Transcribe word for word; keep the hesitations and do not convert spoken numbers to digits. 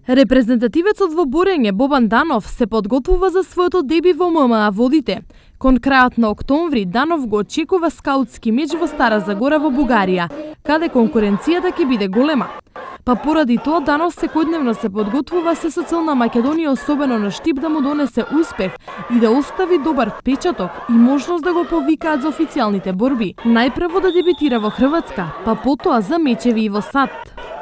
Репрезентативецот во борење Бобан Данов се подготвува за своето деби во М М А Водите. Кон крајот на октомври Данов го очекува скаутски меч во Стара Загора во Бугарија, каде конкуренцијата ќе биде голема. Па поради тоа Данов секојдневно се подготвува се со цел на Македонија, особено на Штип, да му донесе успех и да остави добар впечаток и можност да го повикаат за официјалните борби. Најпрво да дебитира во Хрватска, па потоа за мечеви и во САД.